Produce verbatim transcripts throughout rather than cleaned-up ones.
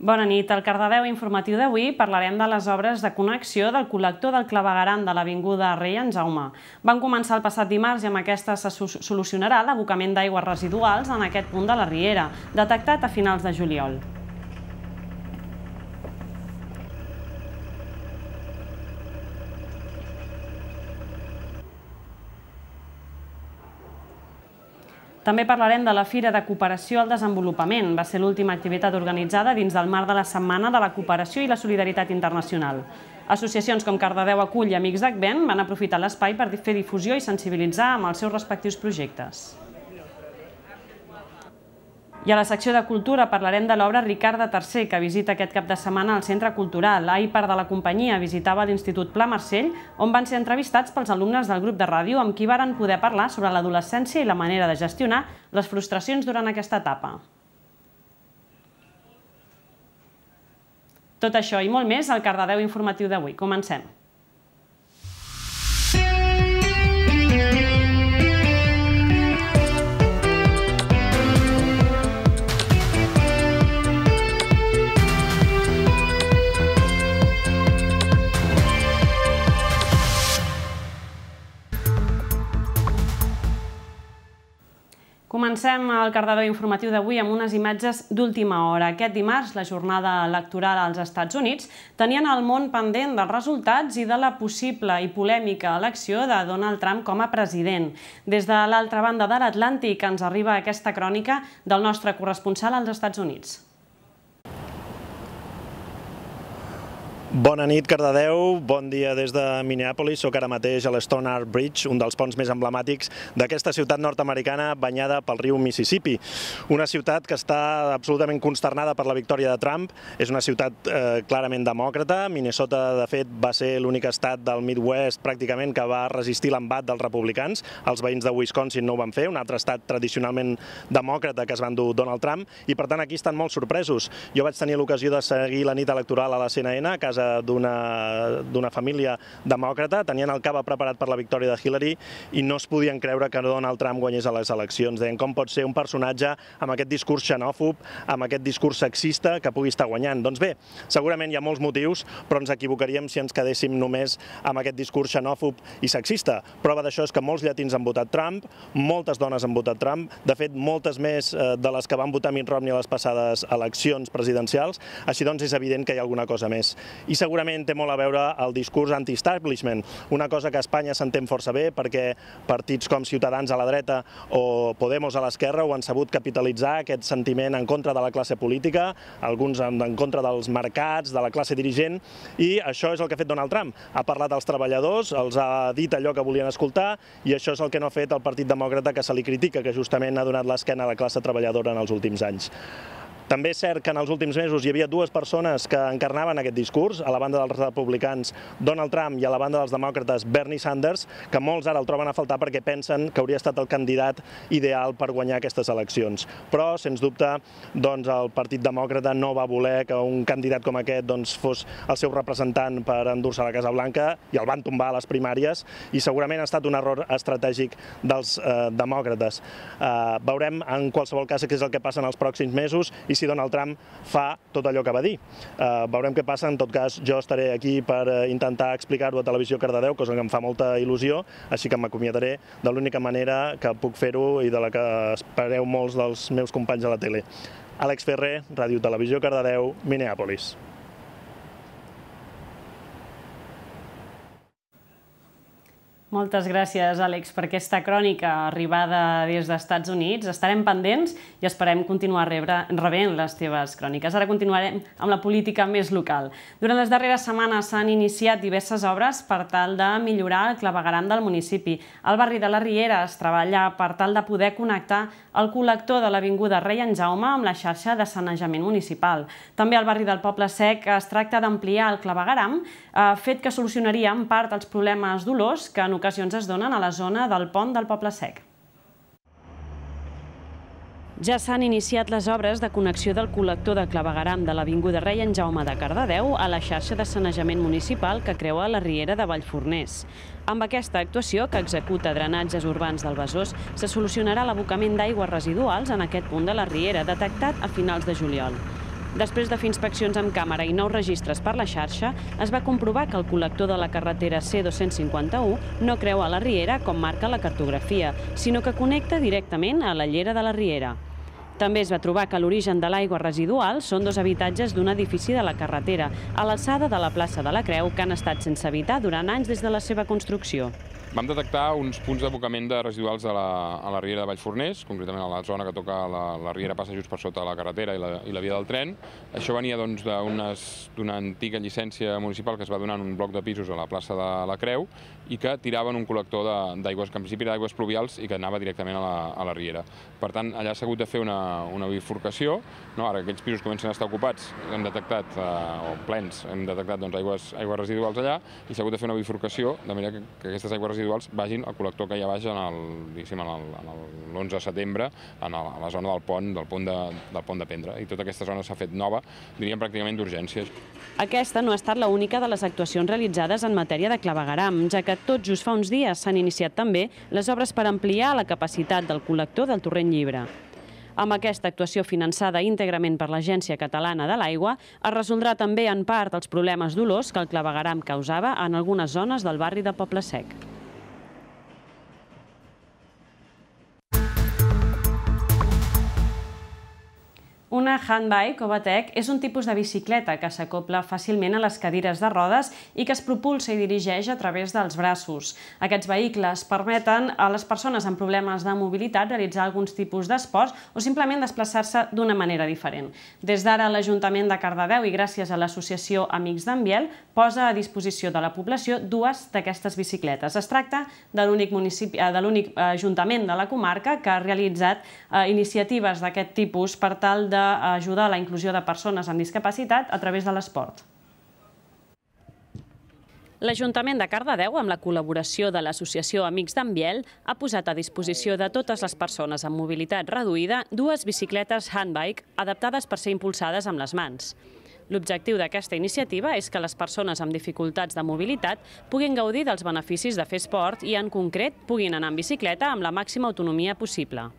Bona nit. Al Cardedeu informatiu d'avui parlarem de les obres de connexió del col·lector del clavegueram de l'avinguda Rei en Jaume. Van començar el passat dimarts i amb aquesta se solucionarà l'abocament d'aigües residuals en aquest punt de la riera, detectat a finals de juliol. També parlarem de la Fira de Cooperació al Desenvolupament. Va ser l'última activitat organitzada dins del marc de la Setmana de la Cooperació i la Solidaritat Internacional. Associacions com Cardedeu Acull i Amics d'Advent van aprofitar l'espai per fer difusió i sensibilitzar amb els seus respectius projectes. I a la secció de Cultura parlarem de l'obra Ricarda tercer, que visita aquest cap de setmana al Centre Cultural. Ahir part de la companyia visitava l'Institut Pla Marcell, on van ser entrevistats pels alumnes del grup de ràdio amb qui varen poder parlar sobre l'adolescència i la manera de gestionar les frustracions durant aquesta etapa. Tot això i molt més al Cardedeu informatiu d'avui. Comencem. Comencem el Cardedeu informatiu d'avui amb unes imatges d'última hora. Aquest dimarts, la jornada electoral als Estats Units, tenien el món pendent dels resultats i de la possible i polèmica elecció de Donald Trump com a president. Des de l'altra banda de l'Atlàntic ens arriba aquesta crònica del nostre corresponsal als Estats Units. Bona nit, Cardedeu. Bon dia des de Minneapolis. Soc ara mateix a l'Stone Art Bridge, un dels ponts més emblemàtics d'aquesta ciutat nord-americana banyada pel riu Mississippi. Una ciutat que està absolutament consternada per la victòria de Trump. És una ciutat eh, clarament demòcrata. Minnesota, de fet, va ser l'únic estat del Midwest pràcticament que va resistir l'embat dels republicans. Els veïns de Wisconsin no ho van fer, un altre estat tradicionalment demòcrata que es van dur Donald Trump, i per tant aquí estan molt sorpresos. Jo vaig tenir l'ocasió de seguir la nit electoral a la C N N, a casa d'una família demòcrata. Tenien el cava preparat per la victòria de Hillary i no es podien creure que Donald Trump guanyés a les eleccions. Deien com pot ser un personatge amb aquest discurs xenòfob, amb aquest discurs sexista que pugui estar guanyant. Doncs bé, segurament hi ha molts motius, però ens equivocaríem si ens quedéssim només amb aquest discurs xenòfob i sexista. Prova d'això és que molts llatins han votat Trump, moltes dones han votat Trump, de fet moltes més de les que van votar Mitt Romney a les passades eleccions presidencials, així doncs és evident que hi ha alguna cosa més. I segurament té molt a veure el discurs anti-establishment, una cosa que a Espanya s'entén força bé perquè partits com Ciutadans a la dreta o Podemos a l'esquerra ho han sabut capitalitzar, aquest sentiment en contra de la classe política, alguns en contra dels mercats, de la classe dirigent, i això és el que ha fet Donald Trump. Ha parlat als treballadors, els ha dit allò que volien escoltar, i això és el que no ha fet el Partit Demòcrata, que se li critica, que justament ha donat l'esquena a la classe treballadora en els últims anys. També és cert que en els últims mesos hi havia dues persones que encarnaven aquest discurs, a la banda dels republicans Donald Trump i a la banda dels demòcrates Bernie Sanders, que molts ara el troben a faltar perquè pensen que hauria estat el candidat ideal per guanyar aquestes eleccions. Però, sens dubte, el Partit Demòcrata no va voler que un candidat com aquest fos el seu representant per endur-se a la Casa Blanca i el van tombar a les primàries i segurament ha estat un error estratègic dels demòcrates. Veurem en qualsevol cas què és el que passa en els pròxims mesos i si Donald Trump fa tot allò que va dir. Veurem què passa. En tot cas, jo estaré aquí per intentar explicar-ho a Televisió Cardedeu, cosa que em fa molta il·lusió, així que m'acomiadaré de l'única manera que puc fer-ho i de la que espereu molts dels meus companys a la tele. Àlex Ferrer, Ràdio Televisió Cardedeu, Minneapolis. Moltes gràcies, Àlex, per aquesta crònica arribada des dels Estats Units. Estarem pendents i esperem continuar rebent les teves cròniques. Ara continuarem amb la política més local. Durant les darreres setmanes s'han iniciat diverses obres per tal de millorar el clavegueram del municipi. Al barri de la Riera es treballa per tal de poder connectar el col·lector de l'avinguda Rei en Jaume amb la xarxa de sanejament municipal. També al barri del Poble Sec es tracta d'ampliar el clavegueram, fet que solucionaria en part els problemes d'olors que en ocasions es donen a la zona del pont del Poble Sec. Ja s'han iniciat les obres de connexió del col·lector de clavegueram de l'avinguda Rei en Jaume de Cardedeu a la xarxa de sanejament municipal que creua la riera de Vallforners. Amb aquesta actuació, que executa drenatges urbans del Besòs, se solucionarà l'abocament d'aigües residuals en aquest punt de la riera, detectat a finals de juliol. Després de fer inspeccions amb càmera i nous registres per la xarxa, es va comprovar que el col·lector de la carretera C dos-cents cinquanta-u no creua la riera com marca la cartografia, sinó que connecta directament a la llera de la riera. També es va trobar que l'origen de l'aigua residual són dos habitatges d'un edifici de la carretera, a l'alçada de la plaça de la Creu, que han estat sense habitar durant anys des de la seva construcció. Vam detectar uns punts d'abocament de residuals a la, a la riera de Vallforners, concretament a la zona que toca la, la riera passa just per sota la carretera i la, i la via del tren. Això venia doncs, d'una antiga llicència municipal que es va donar en un bloc de pisos a la plaça de la Creu i que tiraven un col·lector d'aigües, que en principi era d'aigües pluvials i que anava directament a la, a la riera. Per tant, allà s'ha hagut de fer una, una bifurcació. No? Ara aquells pisos comencen a estar ocupats, hem detectat, eh, o plens, hem detectat doncs, aigües, aigües residuals allà i s'ha hagut de fer una bifurcació de manera que, que aquestes aigües residuals vagin al col·lector que hi ha baix en l'onze de setembre, en a la zona del pont, del pont de, del pont de Pendra. I tota aquesta zona s'ha fet nova, diríem pràcticament d'urgència. Aquesta no ha estat l'única de les actuacions realitzades en matèria de clavegueram, ja que tot just fa uns dies s'han iniciat també les obres per ampliar la capacitat del col·lector del Torrent Llibre. Amb aquesta actuació finançada íntegrament per l'Agència Catalana de l'Aigua, es resoldrà també en part els problemes d'olors que el clavegueram causava en algunes zones del barri de Poble Sec. Una handbike o batec és un tipus de bicicleta que s'acopla fàcilment a les cadires de rodes i que es propulsa i dirigeix a través dels braços. Aquests vehicles permeten a les persones amb problemes de mobilitat realitzar alguns tipus d'esports o simplement desplaçar-se d'una manera diferent. Des d'ara, l'Ajuntament de Cardedeu i gràcies a l'associació Amics d'en Biel posa a disposició de la població dues d'aquestes bicicletes. Es tracta de l'únic ajuntament de la comarca que ha realitzat iniciatives d'aquest tipus per tal de ajudar a la inclusió de persones amb discapacitat a través de l'esport. L'Ajuntament de Cardedeu, amb la col·laboració de l'Associació Amics d'en Biel, ha posat a disposició de totes les persones amb mobilitat reduïda dues bicicletes handbike adaptades per ser impulsades amb les mans. L'objectiu d'aquesta iniciativa és que les persones amb dificultats de mobilitat puguin gaudir dels beneficis de fer esport i, en concret, puguin anar en bicicleta amb la màxima autonomia possible.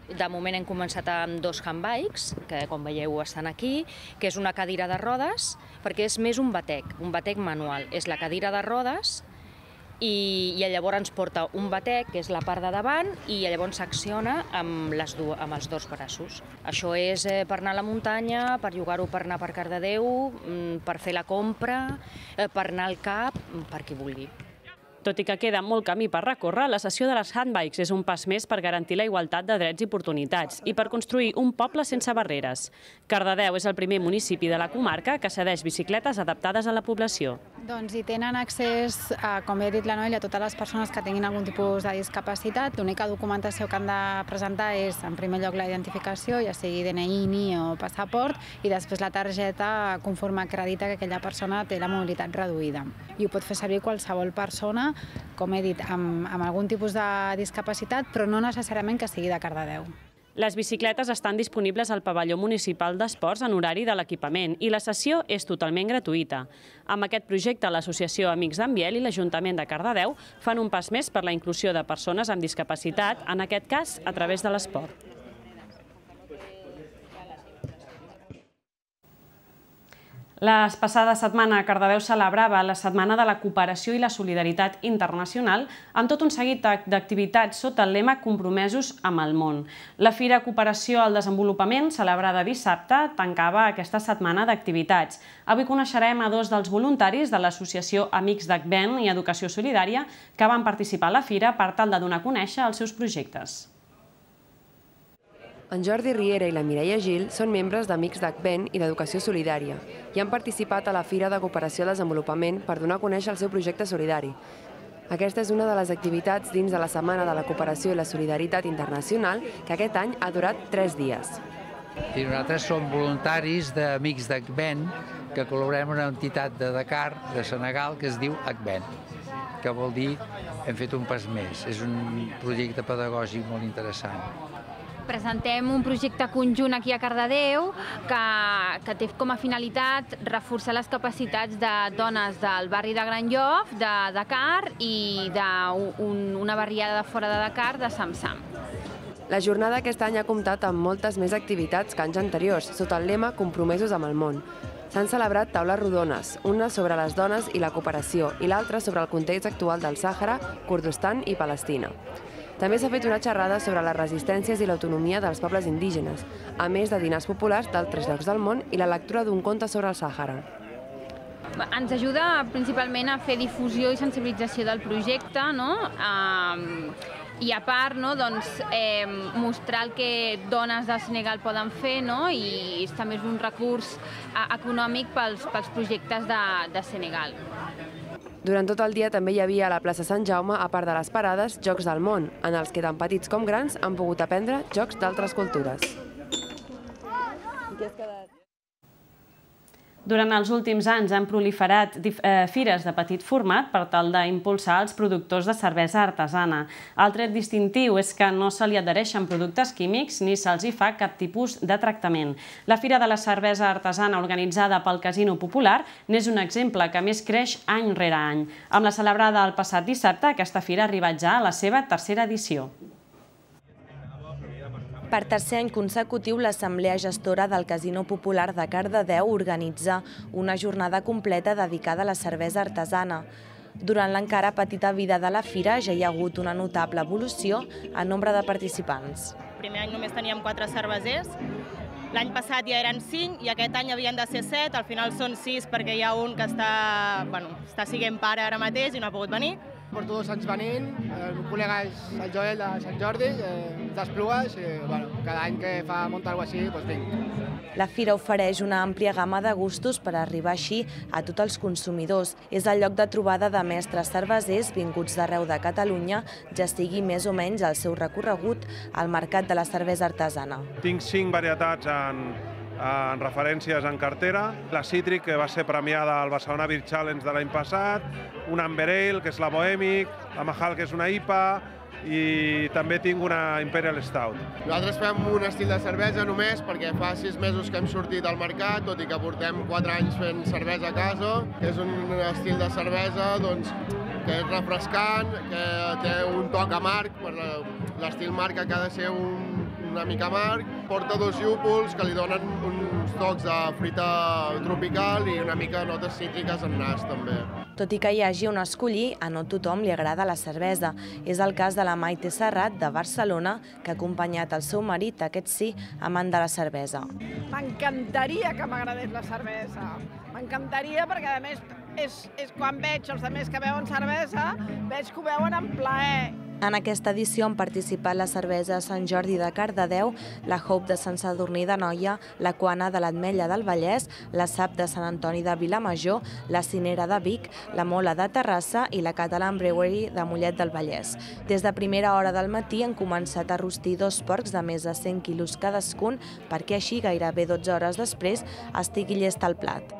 De moment hem començat amb dos handbikes, que com veieu estan aquí, que és una cadira de rodes, perquè és més un batec, un batec manual. És la cadira de rodes i, i llavors ens porta un batec, que és la part de davant, i llavors s'acciona amb, les du amb els dos braços. Això és eh, per anar a la muntanya, per jugar-ho per anar per Cardedeu, per fer la compra, eh, per anar al cap, per qui vulgui. Tot i que queda molt camí per recórrer, la cessió de les handbikes és un pas més per garantir la igualtat de drets i oportunitats i per construir un poble sense barreres. Cardedeu és el primer municipi de la comarca que cedeix bicicletes adaptades a la població. Doncs hi tenen accés, com ja ha dit la Noelia, a totes les persones que tinguin algun tipus de discapacitat. L'única documentació que han de presentar és, en primer lloc, la identificació, ja sigui D N I, N I o passaport, i després la targeta conforme acredita que aquella persona té la mobilitat reduïda. I ho pot fer servir qualsevol persona, com he dit, amb, amb algun tipus de discapacitat, però no necessàriament que sigui de Cardedeu. Les bicicletes estan disponibles al pavelló municipal d'esports en horari de l'equipament i la cessió és totalment gratuïta. Amb aquest projecte, l'Associació Amics d'en Biel i l'Ajuntament de Cardedeu fan un pas més per la inclusió de persones amb discapacitat, en aquest cas a través de l'esport. La passada setmana Cardedeu celebrava la Setmana de la Cooperació i la Solidaritat Internacional amb tot un seguit d'activitats sota el lema Compromesos amb el món. La Fira Cooperació al Desenvolupament, celebrada dissabte, tancava aquesta setmana d'activitats. Avui coneixerem a dos dels voluntaris de l'Associació Amics d'Advent i Educació Solidària que van participar a la fira per tal de donar a conèixer els seus projectes. En Jordi Riera i la Mireia Gil són membres d'Amics d'Advent i d'Educació Solidària i han participat a la Fira de Cooperació al Desenvolupament per donar a conèixer el seu projecte solidari. Aquesta és una de les activitats dins de la Setmana de la Cooperació i la Solidaritat Internacional que aquest any ha durat tres dies. I nosaltres som voluntaris d'Amics d'Advent que col·laborem amb una entitat de Dakar, de Senegal, que es diu Advent, que vol dir hem fet un pas més. És un projecte pedagògic molt interessant. Presentem un projecte conjunt aquí a Cardedeu que, que té com a finalitat reforçar les capacitats de dones del barri de Gran Llop, de Dakar i d'una barriada de fora de Dakar, de Samsam. La jornada aquest any ha comptat amb moltes més activitats que anys anteriors, sota el lema Compromesos amb el món. S'han celebrat taules rodones, una sobre les dones i la cooperació i l'altra sobre el context actual del Sàhara, Kurdistan i Palestina. També s'ha fet una xerrada sobre les resistències i l'autonomia dels pobles indígenes, a més de dinars populars d'altres llocs del món i la lectura d'un conte sobre el Sàhara. Ens ajuda principalment a fer difusió i sensibilització del projecte, no? I a part, mostrar el que dones del Senegal poden fer, i també és un recurs econòmic pels projectes de Senegal. Durant tot el dia també hi havia a la plaça Sant Jaume, a part de les parades, Jocs del món, en els que tant petits com grans han pogut aprendre jocs d'altres cultures. Durant els últims anys han proliferat fires de petit format per tal d'impulsar els productors de cervesa artesana. El tret distintiu és que no se li adhereixen productes químics ni se'ls hi fa cap tipus de tractament. La Fira de la Cervesa Artesana organitzada pel Casino Popular n'és un exemple que més creix any rere any. Amb la celebrada el passat dissabte, aquesta fira ha arribat ja a la seva tercera edició. Per tercer any consecutiu, l'Assemblea Gestora del Casino Popular de Cardedeu organitza una jornada completa dedicada a la cervesa artesana. Durant l'encara petita vida de la fira ja hi ha hagut una notable evolució en nombre de participants. El primer any només teníem quatre cervesers, l'any passat ja eren cinc i aquest any havien de ser set, al final són sis perquè hi ha un que està sent pare ara mateix i no ha pogut venir. Porto dos anys venint, el meu col·lega és el Joel de Sant Jordi, d'Esplugues, i cada any que fa muntar alguna cosa així, doncs vinc. La fira ofereix una àmplia gamma de gustos per arribar així a tots els consumidors. És el lloc de trobada de mestres cervesers vinguts d'arreu de Catalunya, ja sigui més o menys el seu recorregut al mercat de la cervesa artesana. Tinc cinc varietats en en referències en cartera, la Cítric, que va ser premiada al Barcelona Beer Challenge de l'any passat, una Amber Ale, que és la Bohemic, la Mahal, que és una I P A, i també tinc una Imperial Stout. Nosaltres fem un estil de cervesa només perquè fa sis mesos que hem sortit al mercat, tot i que portem quatre anys fent cervesa a casa. És un estil de cervesa que és refrescant, que té un toc amarg, l'estil marca que ha de ser una mica amarg. Porta dos llúpols que li donen uns tocs de fruita tropical i una mica notes cítriques en nas també. Tot i que hi hagi on escollir, a no tothom li agrada la cervesa. És el cas de la Maite Serrat, de Barcelona, que ha acompanyat el seu marit, aquest sí, amant de la cervesa. M'encantaria que m'agradés la cervesa. M'encantaria perquè, a més, és quan veig els altres que beuen cervesa, veig que ho beuen en plaer. En aquesta edició han participat la cervesa Sant Jordi de Cardedeu, la Hope de Sant Sadurní d'Anoia, la Quana de l'Ametlla del Vallès, la Sap de Sant Antoni de Vilamajor, la Cinera de Vic, la Mola de Terrassa i la Catalan Brewery de Mollet del Vallès. Des de primera hora del matí han començat a rostir dos porcs de més de cent quilos cadascun perquè així gairebé dotze hores després estigui llest el plat.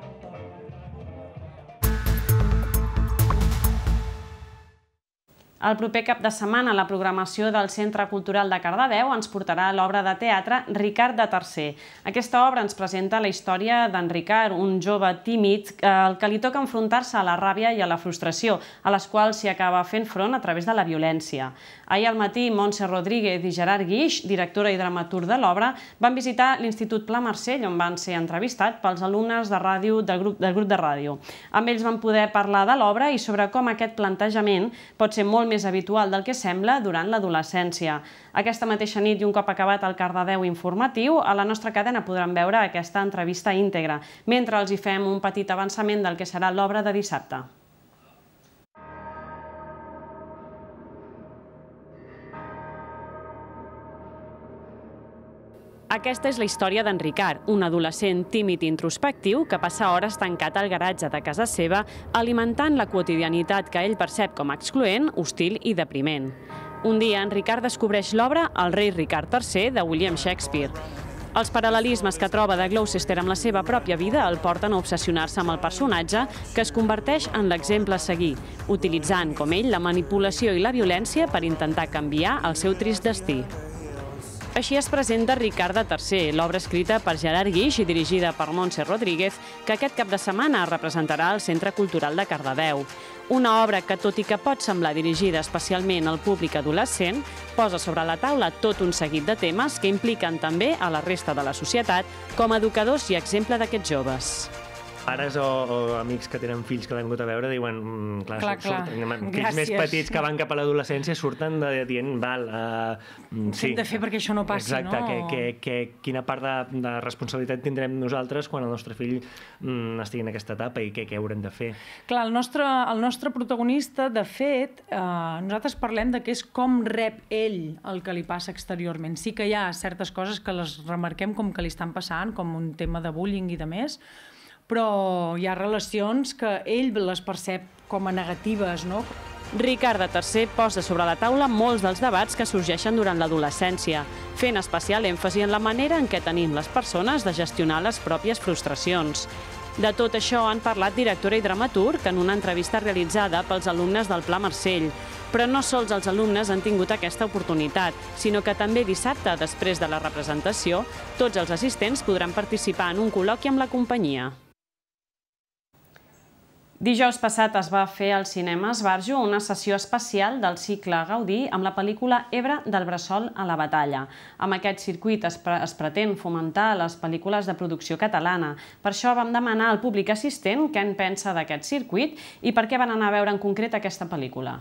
El proper cap de setmana la programació del Centre Cultural de Cardedeu ens portarà l'obra de teatre Ricard de Tercer. Aquesta obra ens presenta la història d'en Ricard, un jove tímid al que li toca enfrontar-se a la ràbia i a la frustració, a les quals s'hi acaba fent front a través de la violència. Ahir al matí, Montse Rodríguez i Gerard Guix, directora i dramaturg de l'obra, van visitar l'Institut Pla Marcell, on van ser entrevistats pels alumnes de ràdio del grup de ràdio. Amb ells van poder parlar de l'obra i sobre com aquest plantejament pot ser molt més habitual del que sembla durant l'adolescència. Aquesta mateixa nit i un cop acabat el Cardedeu informatiu, a la nostra cadena podran veure aquesta entrevista íntegra, mentre els hi fem un petit avançament del que serà l'obra de dissabte. Aquesta és la història d'en Ricard, un adolescent tímid i introspectiu que passa hores tancat al garatge de casa seva alimentant la quotidianitat que ell percep com a excloent, hostil i depriment. Un dia, en Ricard descobreix l'obra El rei Ricard tercer de William Shakespeare. Els paral·lelismes que troba de Gloucester amb la seva pròpia vida el porten a obsessionar-se amb el personatge que es converteix en l'exemple a seguir, utilitzant, com ell, la manipulació i la violència per intentar canviar el seu trist destí. Així es presenta Ricarda tercer, l'obra escrita per Gerard Guix i dirigida per Montse Rodríguez, que aquest cap de setmana representarà al Centre Cultural de Cardedeu. Una obra que, tot i que pot semblar dirigida especialment al públic adolescent, posa sobre la taula tot un seguit de temes que impliquen també a la resta de la societat com a educadors i exemple d'aquests joves. Pares o, o amics que tenen fills que l'han hagut a veure diuen, mm, clar, clar, clar. surten, fills més petits que van cap a l'adolescència surten de, dient, val, uh, sí. Què hem de fer perquè això no passi, Exacte, no? que, que, que, quina part de, de responsabilitat tindrem nosaltres quan el nostre fill mm, estigui en aquesta etapa i què, què haurem de fer. Clar, el nostre, el nostre protagonista, de fet, eh, nosaltres parlem de que és com rep ell el que li passa exteriorment. Sí que hi ha certes coses que les remarquem com que li estan passant, com un tema de bullying i de més, però hi ha relacions que ell les percep com a negatives, no? Ricarda tercer posa sobre la taula molts dels debats que sorgeixen durant l'adolescència, fent especial èmfasi en la manera en què tenim les persones de gestionar les pròpies frustracions. De tot això han parlat directora i dramaturg en una entrevista realitzada pels alumnes del Pla Marcell. Però no sols els alumnes han tingut aquesta oportunitat, sinó que també dissabte, després de la representació, tots els assistents podran participar en un col·loqui amb la companyia. Dijous passat es va fer al cinema Esbarjo una sessió especial del cicle Gaudí amb la pel·lícula Ebre del bressol a la batalla. Amb aquest circuit es, pre es pretén fomentar les pel·lícules de producció catalana. Per això vam demanar al públic assistent què en pensa d'aquest circuit i per què van anar a veure en concret aquesta pel·lícula.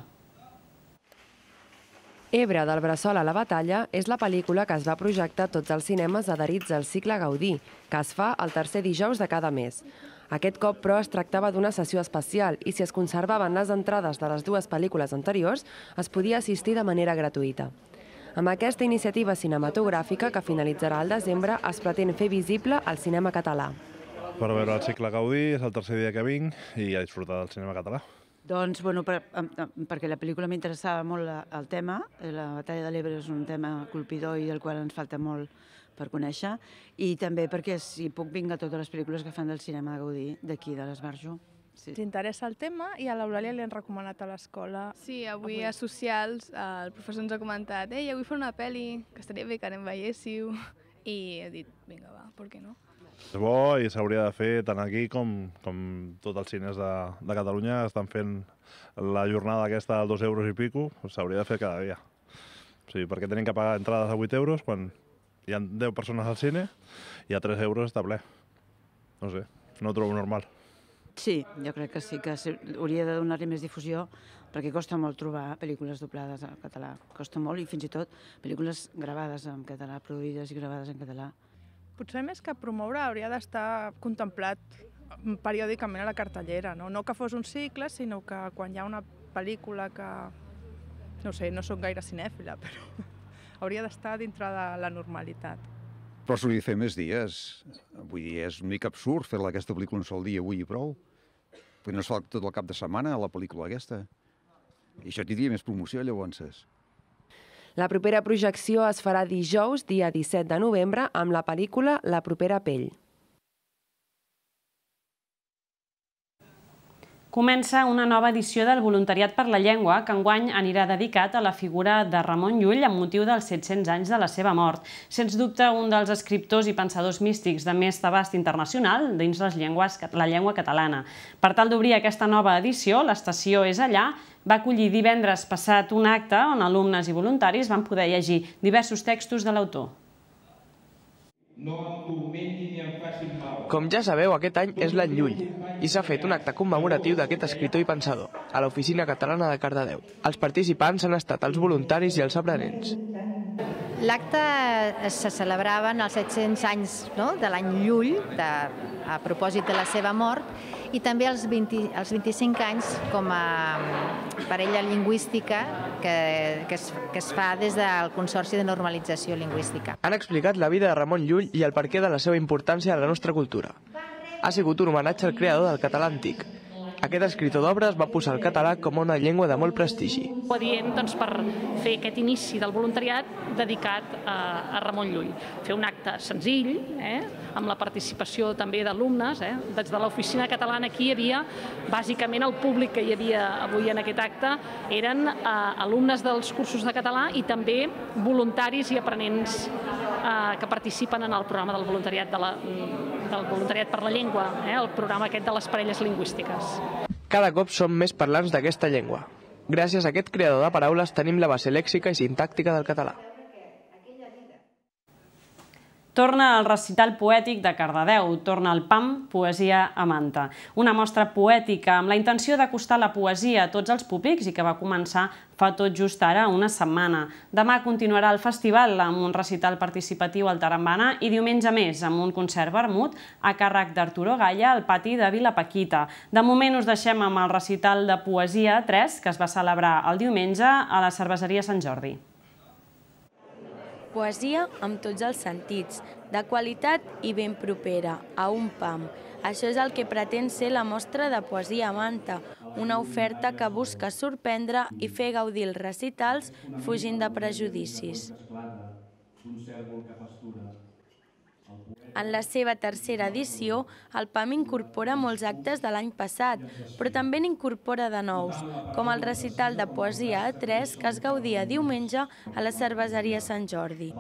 Ebre del bressol a la batalla és la pel·lícula que es va projectar a tots els cinemes adherits al cicle Gaudí, que es fa el tercer dijous de cada mes. Aquest cop, però, es tractava d'una sessió especial i si es conservaven les entrades de les dues pel·lícules anteriors, es podia assistir de manera gratuïta. Amb aquesta iniciativa cinematogràfica, que finalitzarà al desembre, es pretén fer visible el cinema català. Per veure el cicle Gaudí, és el tercer dia que vinc i a disfrutar del cinema català. Doncs, bueno, per, perquè la pel·lícula m'interessava molt el tema. La batalla de l'Ebre és un tema colpidor i del qual ens falta molt per conèixer, i també perquè si puc vinc a totes les pel·lícules que fan del cinema de Gaudí, d'aquí, de l'Esbarjo. Sí. T'interessa el tema i a l'Eulàlia li han recomanat a l'escola. Sí, avui a Socials el professor ens ha comentat «Ei, avui fa una pel·li, que estaria bé que anem veiéssiu», i he dit «Vinga, va, per què no?». És bo i s'hauria de fer tant aquí com, com tots els cines de, de Catalunya estan fent la jornada aquesta de dos euros i pico, s'hauria de fer cada dia. O sigui, perquè tenen que pagar entrades a vuit euros quan hi ha deu persones al cine i a tres euros està ple. No sé, no ho trobo normal. Sí, jo crec que sí, que hauria de donar-li més difusió perquè costa molt trobar pel·lícules doblades en català. Costa molt i fins i tot pel·lícules gravades en català, produïdes i gravades en català. Potser més que promoure hauria d'estar contemplat periòdicament a la cartellera, no? No que fos un cicle, sinó que quan hi ha una pel·lícula que... No sé, no soc gaire cinèfila, però hauria d'estar dintre de la normalitat. Però s'hauria de fer més dies. Vull dir, és una mica absurd fer aquesta pel·lícula un sol dia avui i prou. Perquè no es fa tot el cap de setmana la pel·lícula aquesta. I això tindria més promoció, llavors. La propera projecció es farà dijous, dia disset de novembre, amb la pel·lícula La propera pell. Comença una nova edició del Voluntariat per la Llengua, que enguany anirà dedicat a la figura de Ramon Llull amb motiu dels set-cents anys de la seva mort. Sens dubte, un dels escriptors i pensadors místics de més abast internacional dins les llengües, la llengua catalana. Per tal d'obrir aquesta nova edició, l'estació És Allà va acollir divendres passat un acte on alumnes i voluntaris van poder llegir diversos textos de l'autor. Com ja sabeu, aquest any és l'any Llull i s'ha fet un acte commemoratiu d'aquest escriptor i pensador a l'Oficina Catalana de Cardedeu. Els participants han estat els voluntaris i els aprenents. L'acte se celebraven els set-cents anys de l'any Llull, a propòsit de la seva mort, i també els vint-i-cinc anys com a parella lingüística que es fa des del Consorci de Normalització Lingüística. Han explicat la vida de Ramon Llull i el perquè de la seva importància a la nostra cultura. Ha sigut un homenatge al creador del català antic. Aquest escriptor d'obres va posar el català com una llengua de molt prestigi. Ho adient doncs, per fer aquest inici del voluntariat dedicat a, a Ramon Llull. Fer un acte senzill, eh, amb la participació també d'alumnes. Eh. Des de l'oficina catalana aquí hi havia, bàsicament el públic que hi havia avui en aquest acte, eren eh, alumnes dels cursos de català i també voluntaris i aprenents eh, que participen en el programa del voluntariat, de la, del voluntariat per la llengua, eh, el programa aquest de les parelles lingüístiques. Cada cop som més parlants d'aquesta llengua. Gràcies a aquest creador de paraules tenim la base lèxica i sintàctica del català. Torna el recital poètic de Cardedeu, torna el P A M, Poesia a Manta. Una mostra poètica amb la intenció d'acostar la poesia a tots els públics i que va començar fa tot just ara una setmana. Demà continuarà el festival amb un recital participatiu al Tarambana i diumenge més amb un concert vermut a càrrec d'Arturo Galla al pati de Vila Paquita. De moment us deixem amb el recital de Poesia tres que es va celebrar el diumenge a la Cerveseria Sant Jordi. Poesia amb tots els sentits, de qualitat i ben propera, a un P A M. Això és el que pretén ser la mostra de Poesia a Manta, una oferta que busca sorprendre i fer gaudir els recitals fugint de prejudicis. En la seva tercera edició, el P A M incorpora molts actes de l'any passat, però també n'incorpora de nous, com el recital de Poesia a tres que es gaudia diumenge a la Cerveseria Sant Jordi.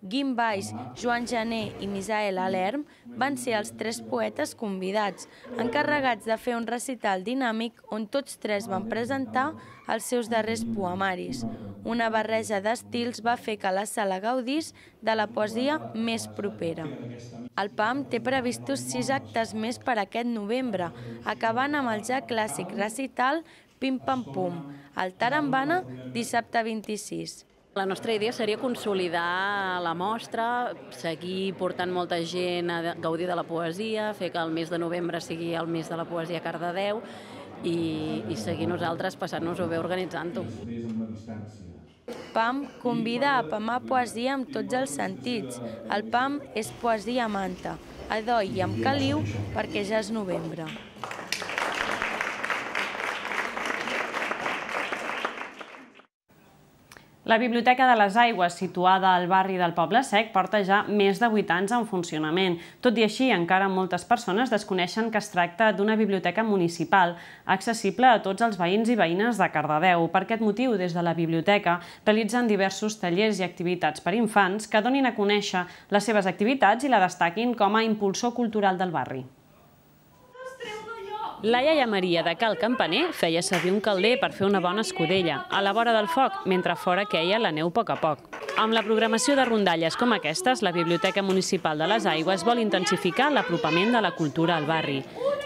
Guim Baix, Joan Jané i Misael Alerm van ser els tres poetes convidats, encarregats de fer un recital dinàmic on tots tres van presentar els seus darrers poemaris. Una barreja d'estils va fer que la sala gaudís de la poesia més propera. El P A M té previstos sis actes més per aquest novembre, acabant amb el ja clàssic recital Pim Pam Pum, al Tarambana, dissabte vint-i-sis. La nostra idea seria consolidar la mostra, seguir portant molta gent a gaudir de la poesia, fer que el mes de novembre sigui el mes de la poesia a Cardedeu i, i seguir nosaltres passant-nos-ho bé organitzant-ho. P A M convida a apamar poesia amb tots els sentits. El P A M és Poesia a Manta, a Doi i amb caliu perquè ja és novembre. La Biblioteca de les Aigües, situada al barri del Poble Sec, porta ja més de vuit anys en funcionament. Tot i així, encara moltes persones desconeixen que es tracta d'una biblioteca municipal, accessible a tots els veïns i veïnes de Cardedeu. Per aquest motiu, des de la biblioteca, realitzen diversos tallers i activitats per infants que donin a conèixer les seves activitats i la destaquin com a impulsor cultural del barri. La iaia Maria de Cal Campaner feia servir un calder per fer una bona escudella, a la vora del foc, mentre fora queia la neu a poc a poc. Amb la programació de rondalles com aquestes, la Biblioteca Municipal de les Aigües vol intensificar l'apropament de la cultura al barri.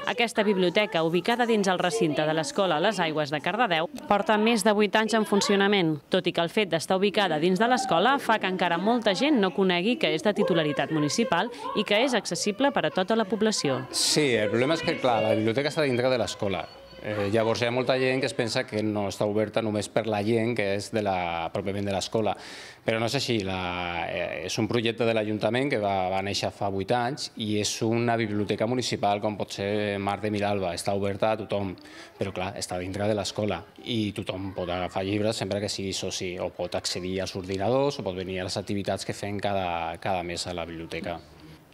Aquesta biblioteca, ubicada dins el recinte de l'Escola Les Aigües de Cardedeu, porta més de vuit anys en funcionament, tot i que el fet d'estar ubicada dins de l'escola fa que encara molta gent no conegui que és de titularitat municipal i que és accessible per a tota la població. Sí, el problema és que, clar, la biblioteca està dintre de l'escola. Eh, llavors hi ha molta gent que es pensa que no està oberta només per la gent que és de la, pròpiament de l'escola, però no és així. La, eh, és un projecte de l'Ajuntament que va, va néixer fa vuit anys i és una biblioteca municipal com pot ser Mar de Miralba, està oberta a tothom, però clar, està dintre de l'escola i tothom pot agafar llibres sempre que sigui soci o pot accedir als ordinadors o pot venir a les activitats que fem cada, cada mes a la biblioteca.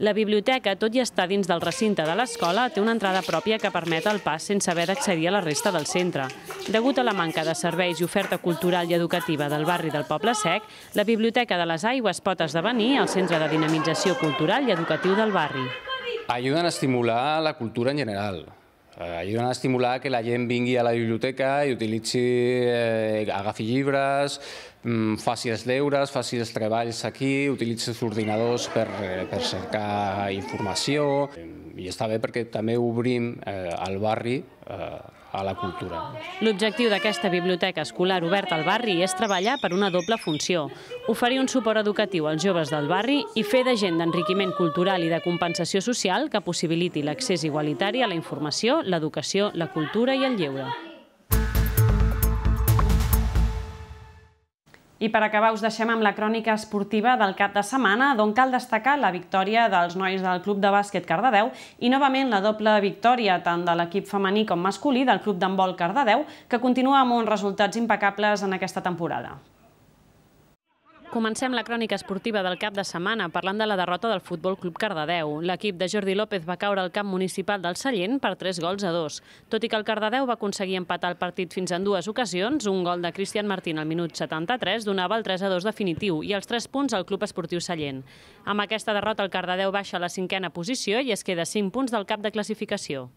La biblioteca, tot i estar dins del recinte de l'escola, té una entrada pròpia que permet el pas sense haver d'accedir a la resta del centre. Degut a la manca de serveis i oferta cultural i educativa del barri del Poble Sec, la Biblioteca de les Aigües pot esdevenir el centre de dinamització cultural i educatiu del barri. Ajuden a estimular la cultura en general. Ajuden a estimular que la gent vingui a la biblioteca i utilitzi, eh, agafi llibres, faci els deures, faci els treballs aquí, utilitzi els ordinadors per, per cercar informació i està bé perquè també obrim eh, el barri eh, a la cultura. L'objectiu d'aquesta biblioteca escolar oberta al barri és treballar per una doble funció, oferir un suport educatiu als joves del barri i fer d'agent d'enriquiment cultural i de compensació social que possibiliti l'accés igualitari a la informació, l'educació, la cultura i el lleure. I per acabar us deixem amb la crònica esportiva del cap de setmana, d'on cal destacar la victòria dels nois del Club de Bàsquet Cardedeu i novament la doble victòria tant de l'equip femení com masculí del Club d'Handbol Cardedeu, que continua amb uns resultats impecables en aquesta temporada. Comencem la crònica esportiva del cap de setmana parlant de la derrota del Futbol Club Cardedeu. L'equip de Jordi López va caure al camp municipal del Sallent per tres gols a dos. Tot i que el Cardedeu va aconseguir empatar el partit fins en dues ocasions, un gol de Cristian Martín al minut setanta-tres donava el tres a dos definitiu i els tres punts al Club Esportiu Sallent. Amb aquesta derrota el Cardedeu baixa a la cinquena posició i es queda cinc punts del cap de classificació.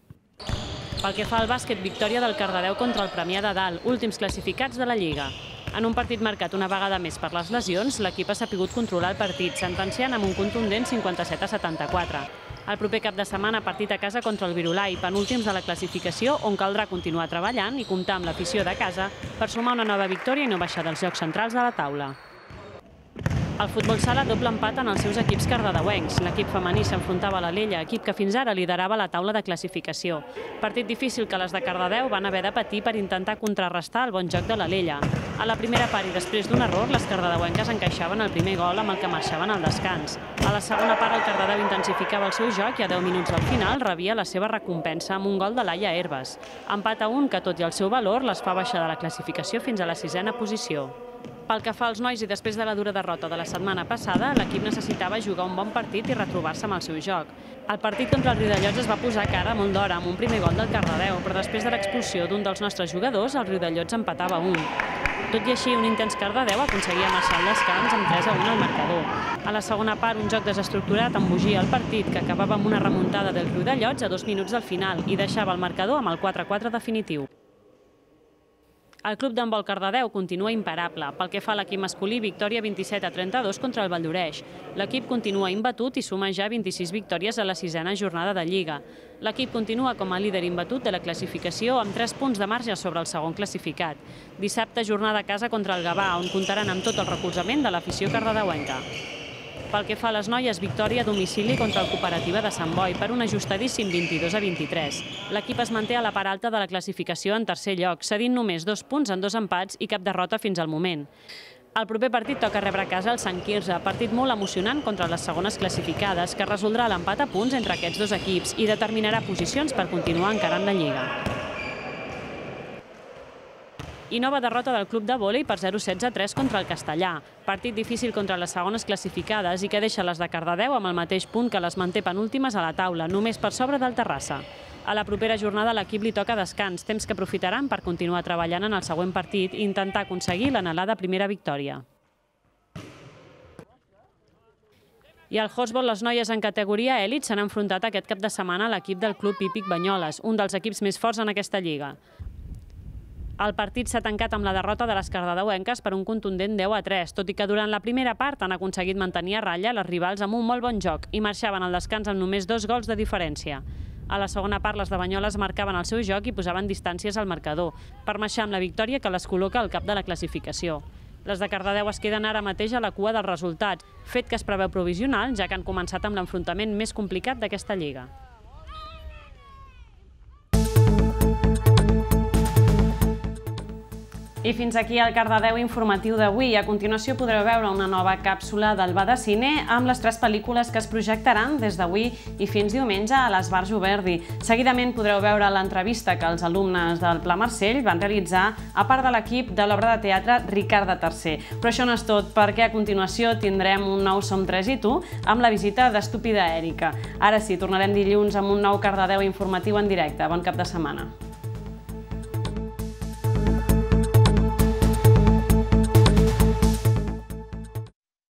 Pel que fa al bàsquet, victòria del Cardedeu contra el Premià de Dalt, últims classificats de la Lliga. En un partit marcat una vegada més per les lesions, l'equip ha sapigut controlar el partit, sentenciant amb un contundent cinquanta-set a setanta-quatre. El proper cap de setmana partit a casa contra el Virolai, penúltims de la classificació, on caldrà continuar treballant i comptar amb l'afició de casa per sumar una nova victòria i no baixar dels llocs centrals de la taula. El futbol sala doble empat en els seus equips cardedeuencs. L'equip femení s'enfrontava a l'Alella, equip que fins ara liderava la taula de classificació. Partit difícil que les de Cardedeu van haver de patir per intentar contrarrestar el bon joc de l'Alella. A la primera part i després d'un error, les cardedeuenques encaixaven el primer gol amb el que marxaven al descans. A la segona part el Cardedeu intensificava el seu joc i a deu minuts del final rebia la seva recompensa amb un gol de Laia Herbes. Empat a un que, tot i el seu valor, les fa baixar de la classificació fins a la sisena posició. Pel que fa als nois i després de la dura derrota de la setmana passada, l'equip necessitava jugar un bon partit i retrobar-se amb el seu joc. El partit contra el Riudellots es va posar cara molt d'hora amb un primer gol del Cardedeu, però després de l'expulsió d'un dels nostres jugadors, el Riudellots empatava un. Tot i així, un intens Cardedeu aconseguia marxar al descans amb tres a un al marcador. A la segona part, un joc desestructurat embogia el partit, que acabava amb una remuntada del Riudellots a dos minuts del final i deixava el marcador amb el quatre a quatre definitiu. El Club d'Handbol Cardedeu continua imparable. Pel que fa a l'equip masculí, victòria vint-i-set a trenta-dos contra el Valldoreix. L'equip continua imbatut i suma ja vint-i-sis victòries a la sisena jornada de Lliga. L'equip continua com a líder imbatut de la classificació amb tres punts de marge sobre el segon classificat. Dissabte, jornada a casa contra el Gavà, on comptaran amb tot el recolzament de l'afició cardedeuenca. Pel que fa a les noies, victòria a domicili contra el Cooperativa de Sant Boi per un ajustadíssim vint-i-dos a vint-i-tres. L'equip es manté a la part alta de la classificació en tercer lloc, cedint només dos punts en dos empats i cap derrota fins al moment. El proper partit toca rebre a casa el Sant Quirze, partit molt emocionant contra les segones classificades, que resoldrà l'empat a punts entre aquests dos equips i determinarà posicions per continuar encarant la Lliga. I nova derrota del club de vòlei per zero a setze a tres contra el Castellà. Partit difícil contra les segones classificades i que deixa les de Cardedeu amb el mateix punt que les manté penúltimes a la taula, només per sobre del Terrassa. A la propera jornada l'equip li toca descans, temps que aprofitaran per continuar treballant en el següent partit i intentar aconseguir l'anhelada primera victòria. I al Hosbol, les noies en categoria èlit s'han enfrontat aquest cap de setmana a l'equip del Club Hípic Banyoles, un dels equips més forts en aquesta lliga. El partit s'ha tancat amb la derrota de les cardedeuenques per un contundent deu a tres, tot i que durant la primera part han aconseguit mantenir a ratlla les rivals amb un molt bon joc i marxaven al descans amb només dos gols de diferència. A la segona part, les de Banyoles marcaven el seu joc i posaven distàncies al marcador, per marxar amb la victòria que les col·loca al cap de la classificació. Les de Cardedeu es queden ara mateix a la cua dels resultats, fet que es preveu provisional, ja que han començat amb l'enfrontament més complicat d'aquesta lliga. I fins aquí el Cardedeu informatiu d'avui. A continuació podreu veure una nova càpsula del Va de Cine amb les tres pel·lícules que es projectaran des d'avui i fins diumenge a l'Esbarjo Verdi. Seguidament podreu veure l'entrevista que els alumnes del Pla Marcell van realitzar a part de l'equip de l'obra de teatre Ricard tercer. Però això no és tot, perquè a continuació tindrem un nou Som tres i tu amb la visita d'Estúpida Èrica. Ara sí, tornarem dilluns amb un nou Cardedeu informatiu en directe. Bon cap de setmana.